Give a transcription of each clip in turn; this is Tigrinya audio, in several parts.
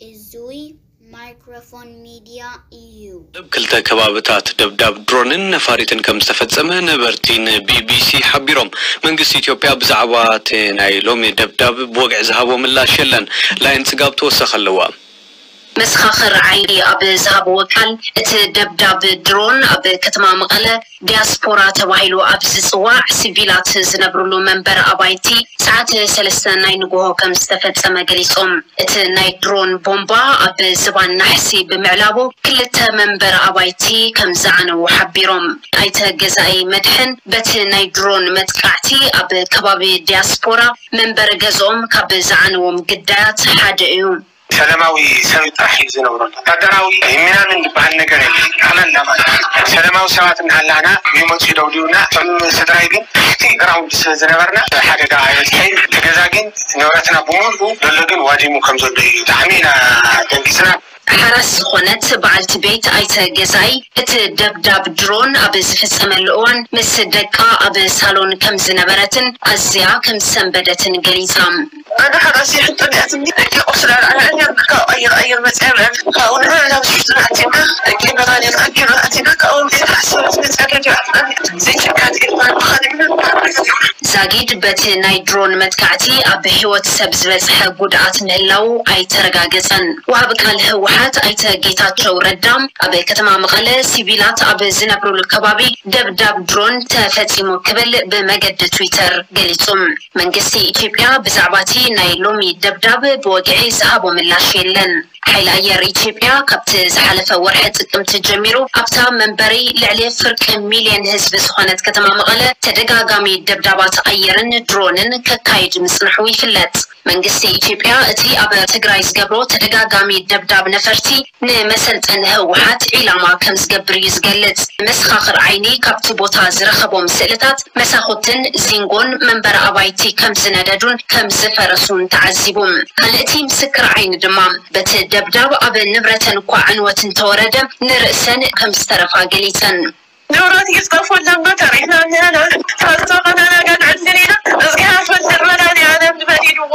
እዙይ ማይክሮፎን ሚድያ እዩ። ኣብ ክልተ ከባብታት ደብዳብ ድሮንን ነፋሪትን ከም ዝተፈጸመ ነበርቲ ንቢቢሲ ሓቢሮም። መንግስቲ ኢትዮጵያ ብዛዕባ እቲ ናይ ሎሚ ደብዳብ ብወግዒ ዝሃቦ ምላሽ የለን። ላይን ጽጋብ ተወሰኸ ኣለዋ። መሰኻኽር ዓይኒ ኣብ ዝሃብዎ ቃል፣ እቲ ደብዳብ ድሮን ኣብ ከተማ መቐለ ዲያስፖራ ተባሂሉ ኣብ ዝፅዋዕ ሲቪላት ዝነብርሉ መንበር ኣባይቲ ሰዓት ሰለስተ ናይ ንግሆ ከም ዝተፈፀመ ገሊፆም። እቲ ናይ ድሮን ቦምባ ኣብ ዝባን ናሕሲ ብምዕላቡ ክልተ መንበር ኣባይቲ ከም ዝዓነዉ ሓቢሮም። ኣይተ ገዛኢ መድሕን በቲ ናይ ድሮን መጥቃዕቲ ኣብ ከባቢ ዲያስፖራ መንበሪ ገዝኦም ካብ ዝዓነዎም ግዳያት ሓደ እዩ። ሰላማዊ ሰብ ጥራሕ እዩ ዝነብረሉ። ወታደራዊ ሚናምን ዝበሃል ነገር የለን። ኣመና ማለት እዩ። ሰላማዊ ሰባት እናሃላና ይመፁ ይደብድቡና። እቶም ስድራይ ግን ትሕቲ ግራውንድ ስለ ዝነበርና ሓደጋ ኣይበፅሐን። እቲ ገዛ ግን ንብረትና ብምሉኡ ዘሎ ግን ዋዲሙ ከም ዘሎ እዩ። ብጣዕሚ ኢና ደንጊፅና። ሓራስ ዝኾነት በዓልቲ ቤት ኣይተ ገዛኢ፣ እቲ ደብዳብ ድሮን ኣብ ዝፍጸመሉ እዋን ምስ ደቃ ኣብ ሳሎን ከም ዝነበረትን ኣዝያ ከም ዝሰንበደትን ገሊጻ። ኣነ ሓራስ ይሕጥን እያ ትብል ደቂ ቁስላ ኣየር ካብ ኣየር ኣየር መጽያ ብዕል ካብኡ ንሕና ናብ ስሕቱ ኣቲና ደቂ በራኒ ኣኪሉ ኣቲና ካብኡ ቤት ሓሰባት መጽያ ደዲ ኣፍና ዘይቸካት ኢልማ ብኻሊእ ምንም ዛጊድ በቲ ናይ ድሮን መጥቃዕቲ ኣብ ህይወት ሰብ ዝበጽሐ ጉድኣት ምህላዉ ኣይተረጋገጸን። ወሃቢ ቃል ህወሓት ኣይተ ጌታቸው ረዳ ኣብ ከተማ መቐለ ሲቪላት ኣብ ዝነብሩሉ ከባቢ ደብዳብ ድሮን ተፈጺሙ ክብል ብመገዲ ትዊተር ገሊጹ። መንግስቲ ኢትዮጵያ ብዛዕባ እቲ ናይ ሎሚ ደብዳብ ብወግዒ ዝሃቦ ምላሽ የለን። ሓይሊ ኣየር ኢትዮጵያ ካብቲ ዝሓለፈ ወርሒ ጥቅምቲ ጀሚሩ ኣብታ መንበሪ ልዕሊ ፍርቂ ሚልዮን ህዝቢ ዝኾነት ከተማ መቐለ ተደጋጋሚ ደብዳባት ኣየርን ድሮንን ከካይድ ምጽንሑ ይፍለጥ። መንግስቲ ኢትዮጵያ እቲ ኣብ ትግራይ ዝገብሮ ተደጋጋሚ ደብዳብ ነፈርቲ ንመሰልጠኒ ህወሓት ዒላማ ከም ዝገብር እዩ ዝገልጽ። መሰኻኽር ዓይኒ ካብቲ ቦታ ዝረኸቦም ስእልታት መሳኹትን ዚንጎን መንበሪ ኣባይቲ ከም ዝነደዱን ከም ዝፈረሱን ተዓዚቡ። ካልእቲ ምስክር ዓይኒ ድማ በቲ ደብዳብ ኣብ ንብረተን እኳ ዕንወት እንተወረደ ንርእሰን ከም ዝተረፋ ገሊጸን። ንብረት ይጽጠፉ ኣለና ተሪሕና እኒሀና ፈርቶ ከናናጋን ዕድል ኢና እዚኣ ፈልር መዳን ኣለም ዝበዲድዎ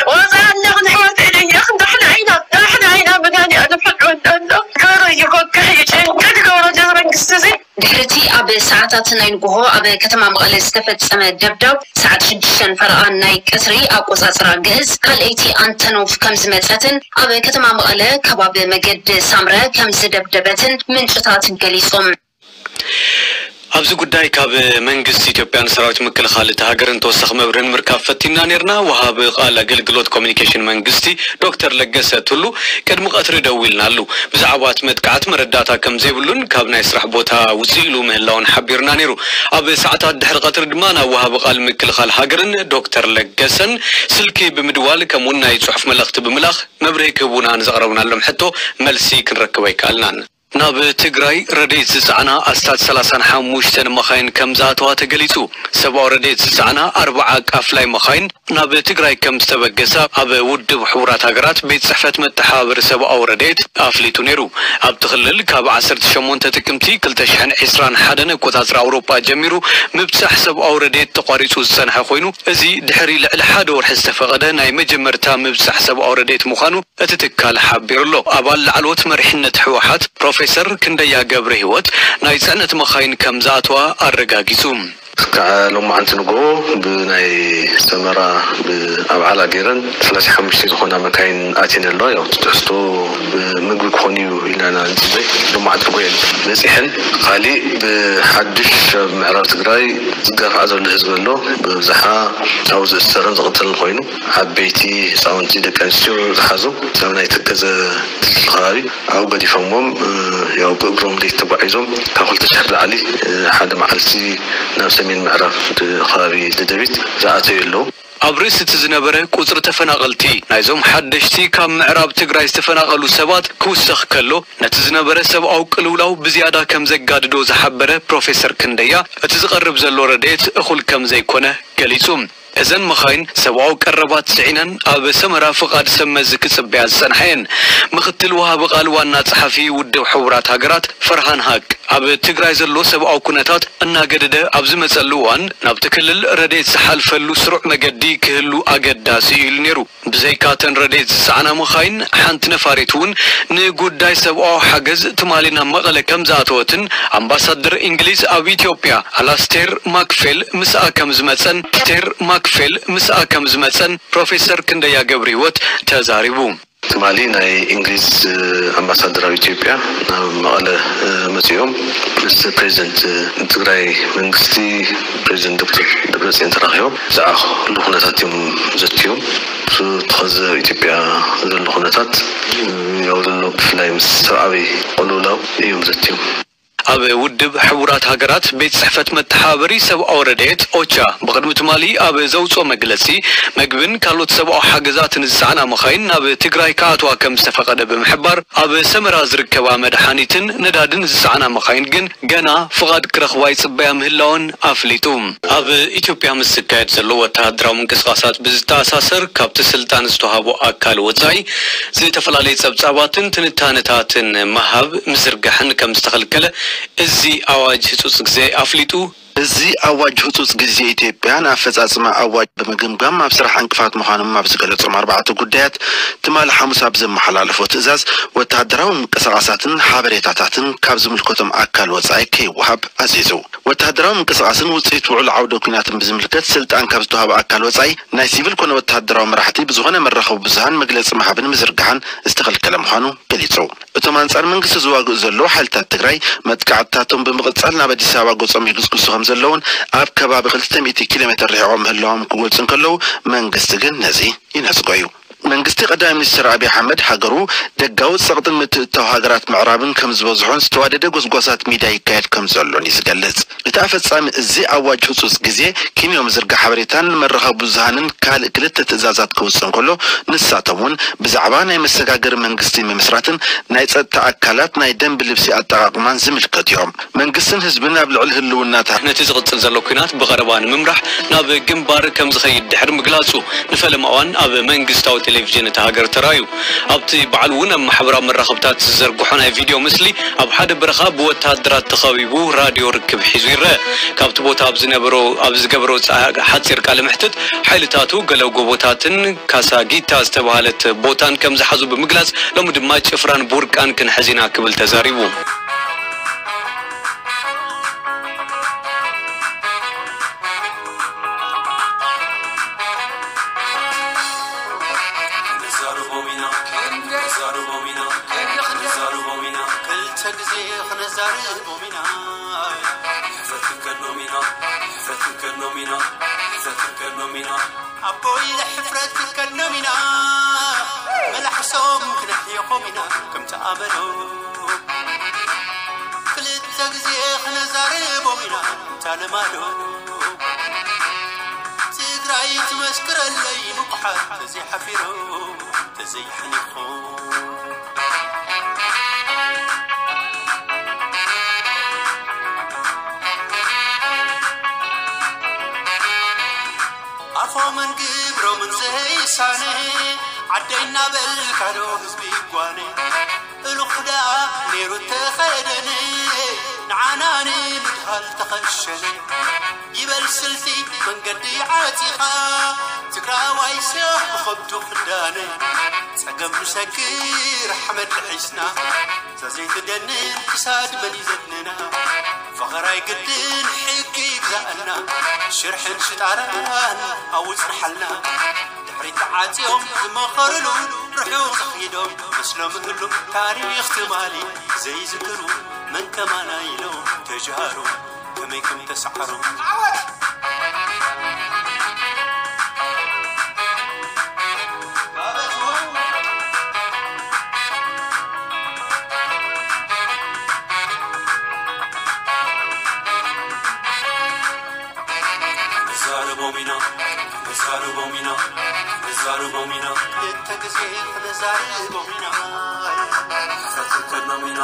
ወዛ ኣለኽ ንሕወት ኢለየ ክንዳሕና ኢና ዳሕና ኢና መዳን ኣለም ሕድወን ኣሎ ገሩ ይጎግሕ ይጨንቅድ ገሩ ጀ መንግስቲ እዚ ድሕርቲ ኣብ ሰዓታት ናይ ንግሆ ኣብ ከተማ መቐለ ዝተፈጸመ ደብዳብ ሰዓት ሽዱሽተን ፈረቓን ናይ ቀትሪ ኣቆጻጽራ ግእዝ ካልኣይቲ ኣንተኖቭ ከም ዝመጸትን ኣብ ከተማ መቐለ ከባቢ መገዲ ሳምረ ከም ዝደብደበትን ምንጭታት ገሊጾም። ኣብዚ ጉዳይ ካብ መንግስቲ ኢትዮጵያን ሰራዊት ምክልኻል እታ ሃገርን ተወሳኺ መብርሂ ንምርካብ ፈቲና ነይርና። ወሃቢ ቃል ኣገልግሎት ኮሚኒኬሽን መንግስቲ ዶክተር ለገሰ ቱሉ ቅድሚ ቀትሪ ደዊልናሉ። ብዛዕባ እቲ መጥቃዕቲ መረዳእታ ከም ዘይብሉን ካብ ናይ ስራሕ ቦታ ውፅእ ኢሉ ምህላውን ሓቢሩና ነይሩ። ኣብ ሰዓታት ድሕሪ ቀትሪ ድማ ናብ ወሃቢ ቃል ምክልኻል ሃገርን ዶክተር ለገሰን ስልኪ ብምድዋል ከምኡውን ናይ ፅሑፍ መልእኽቲ ብምልኣኽ መብርሂ ክህቡና ንዘቕረብናሎም ሕቶ መልሲ ክንረክብ ኣይከኣልናን። ናብ ትግራይ ረድኤት ዝጸዓና ኣስታት ሰላሳን ሓሙሽተን መኻይን ከም ዝኣተዋ ተገሊጹ። ሰብኣዊ ረድኤት ዝጸዓና ኣርብዓ ቃፍላይ መኻይን ናብ ትግራይ ከም ዝተበገሳ ኣብ ውድብ ሕቡራት ሃገራት ቤት ጽሕፈት መተሓባበሪ ሰብኣዊ ረድኤት ኣፍሊጡ ነይሩ። ኣብቲ ክልል ካብ ዓሰርተ ሸሞንተ ጥቅምቲ ክልተ ሽሕን ዕስራን ሓደን ኣቆጻጽራ ኣውሮጳ ጀሚሩ ምብጻሕ ሰብኣዊ ረድኤት ተቋሪጹ ዝጸንሐ ኮይኑ፣ እዚ ድሕሪ ልዕሊ ሓደ ወርሒ ዝተፈቐደ ናይ መጀመርታ ምብጻሕ ሰብኣዊ ረድኤት ምዃኑ እቲ ትካል ሓቢሩ ኣሎ። ኣባል ላዕለዎት መሪሕነት ህወሓት ፕሮፌሰር ክንደያ ገብረሂወት ናይ ፅዕነት መኻይን ከም ዝኣተዋ ኣረጋጊፁ። እስካዕ ሎማዓንቲ ንግሆ ብናይ ሰመራ ብኣብዓላ ገይረን ሰላሳ ሓሙሽተ ዝኾና መካይን ኣትየን ኣለዋ። ያው እቲ ትሕዝቶ ብምግቢ ክኾን እዩ ኢልና ኢና ንፅበይ። ሎማዓንቲ ንግሆ እየን በፂሐን። ካሊእ ብሓድሽ ኣብ ምዕራብ ትግራይ ዝጋፋዕ ዘሎ ህዝቢ ኣሎ። ብኣብዝሓ ኣብኡ ዝእሰርን ዝቕተልን ኮይኑ ዓበይቲ፣ ህፃውንቲ፣ ደቂ ኣንስትዮ ዝሓዙ ናብ ናይ ተከዘ ድልድል ከባቢ ኣብኡ ገዲፎምዎም ያው ብእግሮም ለይቲ ተጓዒዞም ካብ ክልተ ሽሕ ንላዕሊ ሓደ መዓልቲ ናብ ሰሜን ምዕራብ ከባቢ ደደቢት ዝኣተዩ ኣለዉ። ኣብ ርእሲ እቲ ዝነበረ ቁጽሪ ተፈናቐልቲ ናይዞም ሓደሽቲ ካብ ምዕራብ ትግራይ ዝተፈናቐሉ ሰባት ክውሰኽ ከሎ ነቲ ዝነበረ ሰብኣዊ ቅልውላው ብዝያዳ ከም ዘጋድዶ ዝሓበረ ፕሮፌሰር ክንደያ እቲ ዝቐርብ ዘሎ ረድኤት እኹል ከም ዘይኮነ ገሊጹ። እዘን መኻይን ሰብኣዊ ቀረባት ጽዒነን ኣብ ሰመራ ፍቓድ ሰብ መዚ ክጽበያ ዝጸንሓ እየን። ምኽትል ወሃቢ ቃል ዋና ጸሓፊ ውድብ ሕቡራት ሃገራት ፈርሃን ሃቅ ኣብ ትግራይ ዘሎ ሰብኣዊ ኩነታት እናገደደ ኣብ ዝመጸሉ እዋን፣ ናብቲ ክልል ረድኤት ዝሓልፈሉ ስሩዕ መገዲ ክህሉ ኣገዳሲ እዩ ኢሉ ነይሩ። ብዘይካተን ረድኤት ዝጸዓና መኻይን፣ ሓንቲ ነፋሪት እውን ንጉዳይ ሰብኣዊ ሓገዝ ትማሊ ናብ መቐለ ከም ዝኣተወትን፣ ኣምባሳደር እንግሊዝ ኣብ ኢትዮጵያ ኣላስቴር ማክፌል ምስኣ ከም ዝመጸን፣ ስቴር ማክፌል ምስኣ ከም ዝመጸን ፕሮፌሰር ክንደያ ገብረ ህይወት ተዛሪቡ። ትማሊ ናይ እንግሊዝ ኣምባሳደር ኣብ ኢትዮጵያ ናብ መቐለ መጺኦም ምስ ፕሬዚደንት ትግራይ መንግስቲ፣ ፕሬዚደንት ዶክተር ደብረጽዮን ተራኺቦም ብዛዕባ ኩሉ ኩነታት እዮም ዘትዮም። እቲ ኸዚ ኣብ ኢትዮጵያ ዘሎ ኩነታት፣ ያው ዘሎ ብፍላይ ምስ ሰብኣዊ ቅልውላው እዮም ዘትዮም። ኣብ ውድብ ሕቡራት ሃገራት ቤት ጽሕፈት መተሓባበሪ ሰብኣዊ ረድኤት ኦቻ ብቕድሚ ትማሊ ኣብ ዘውጽኦ መግለጺ፣ መግብን ካልኦት ሰብኣዊ ሓገዛትን ዝጸዓና መኻይን ናብ ትግራይ ክኣትዋ ከም ዝተፈቐደ ብምሕባር፣ ኣብ ሰመራ ዝርከባ መድሓኒትን ነዳድን ዝጸዓና መኻይን ግን ገና ፍቓድ ክረኽባ ይጽበያ ምህላወን ኣፍሊጡ። ኣብ ኢትዮጵያ ምስ ዝካየድ ዘሎ ወተሃደራዊ ምንቅስቓሳት ብዝተኣሳሰር፣ ካብቲ ስልጣን ዝተዋህቦ ኣካል ወጻኢ ዝተፈላለየ ጸብጻባትን ትንታነታትን ምሃብ ምዝርጋሕን ከም ዝተኸልከለ እዚ ኣዋጅ ህጹጽ ግዜ ኣፍሊጡ። እዚ ኣዋጅ ህጹጽ ግዜ ኢትዮጵያ ንኣፈጻጽማ ኣዋጅ ብምግምጋም ኣብ ስራሕ ዕንቅፋት ምዃኖም ኣብ ዝገለጾም ኣርባዕተ ጉዳያት፣ ትማሊ ሓሙስ ኣብ ዘመሓላለፎ ትእዛዝ፣ ወተሃደራዊ ምንቅስቓሳትን ሓበሬታታትን ካብ ዝምልከቶም ኣካል ወጻኢ ከይወሃብ ኣዚዙ። ወተሃደራዊ ምንቅስቓስን ውጽኢት ውዕሎ ዓውደ ኲናትን ብዝምልከት፣ ስልጣን ካብ ዝተዋህበ ኣካል ወጻኢ፣ ናይ ሲቪል ኮነ ወተሃደራዊ መራሕቲ ብዝኾነ መራኸቢ ብዙሃን መግለጺ ምሃብን ምዝርጋሕን ዝተኸልከለ ምዃኑ ገሊጹ። እቶም ኣንጻር መንግስቲ ዝዋግኡ ዘለዉ ሓይልታት ትግራይ፣ መጥቃዕትታቶም ብምቕጻል ናብ ኣዲስ ኣበባ ገጾም ይግስግሱ ከም ዘለዉን፣ ኣብ ከባቢ ክልተ ሚእቲ ኪሎ ሜትር ርሒቖም ምህላዎም ክገልጹ እንከለዉ፣ መንግስቲ ግን ነዚ ይነጽጎ እዩ። መንግስቲ ቀዳማይ ሚኒስትር ኣብይ ኣሕመድ፣ ሃገሩ ደጋዊ ጸቕጥን ምትእትታው ሃገራት ምዕራብን ከም ዝበዝሖን ዝተዋደደ ጎስጓሳት ሚድያ ይካየድ ከም ዘሎን እዩ ዝገልጽ። እቲ ኣፈጻሚ እዚ ኣዋጅ ህጹጽ ግዜ፣ ኪንዮ ምዝርጋሕ ሓበሬታን መራኸቢ ብዙሃንን ካልእ ክልተ ትእዛዛት ከውጽእ እንከሎ፣ ንሳቶም እውን ብዛዕባ ናይ መሰጋገሪ መንግስቲ ምምስራትን ናይ ጸጥታ ኣካላት ናይ ደንቢ ልብሲ ኣጠቓቕማን ዝምልከቱ እዮም። መንግስትን ህዝብን ኣብ ልዕሊ ህልውናታ ነቲ ዝቕጽል ዘሎ ኲናት ብቐረባ ንምምራሕ ናብ ግንባር ከም ዝኸይድ ድሕሪ ምግላጹ፣ ንፈለማ እዋን ኣብ መንግስታዊ ቴሌቪዥን እታ ሃገር ተራእዩ። ኣብቲ በዓል እውን ኣብ ማሕበራዊ መራኸብታት ዝዘርግሖ ናይ ቪድዮ ምስሊ፣ ኣብ ሓደ በረኻ ብወተሃደራት ተኸቢቡ ራድዮ ርክብ ሒዙ ይረአ። ካብቲ ቦታ ኣብ ዝነበሮ፣ ኣብ ዝገበሮ ጻ-፣ ሓጺር ቃለ መሕትት፣ ሓይልታቱ ገለ ጎቦታትን ካሳጊታ ዝተባህለት ቦታን ከም ዝሓዙ ብምግላጽ፣ ሎሚ ድማ ጭፍራን ቡርቃን ክንሕዝ ኢና ክብል ተዛሪቡ። ክንዛረቦም ኢና፣ ክንዛረቦም ኢና፣ ክንዛረቦም ኢና፣ ክልተ ግዜ ክንዛረቦም ኢና። ሕፍረት ክንከድኖም ኢና፣ ሕፍረት ክንከድኖም ኢና፣ ሕፍረት ክንከድኖም ኢና። ኣቦይ፣ ሕፍረት ክንከድኖም ኢና። መላሕሶም ክነሕየኾም ኢና ከምቲ ኣመሎም። ክልተ ግዜ ክነዛርቦም ኢና እንታ ልማዶም። ትግራይ ትመስክረለይ ንቑሓት ተዘይሓፊሮም፣ ተዘይሓኒኾም። ኣፎምን ግብሮምን ዘይሳነ፣ ዓደይ እናበልካ ዶ ህዝቢ ይጓነ? እሉኽ ደኣ ነይሩ ተኸደነ፣ ንዓና ንምድሃል ተኸሸነ። ይበል ስልቲ መንገዲ ዓጺኻ፣ ትግራዋይ ሰብ ብኸብዱ ክዳነ። ጸገም ንሰግር ሓመድ ልሒስና፣ እዛ ዘይትደንን ክሳድ መን ይዘትነና? ፈኸራይ ግድን ሕጊ ይግዛእና፣ ሽርሕን ሽጣራን ኣብኡ ጽንሓልና። ድሕሪት ተዓጽዮም ዝመኸርሉ፣ ርሑቕ ዝኺዶም መስሎም እሉ፣ ታሪኽ ትማሊ ዘይዝክሩ፣ መን ከማና ኢሎም ተጃሩ፣ ከመይ ከም ተሰዓሩ። ክንዛረቦም ኢና፣ ክንዛረቦም ኢና፣ ክንዛረቦም ኢና። ክልተ ግዜ ክንዛረቦም ኢና። ክንከድኖም ኢና።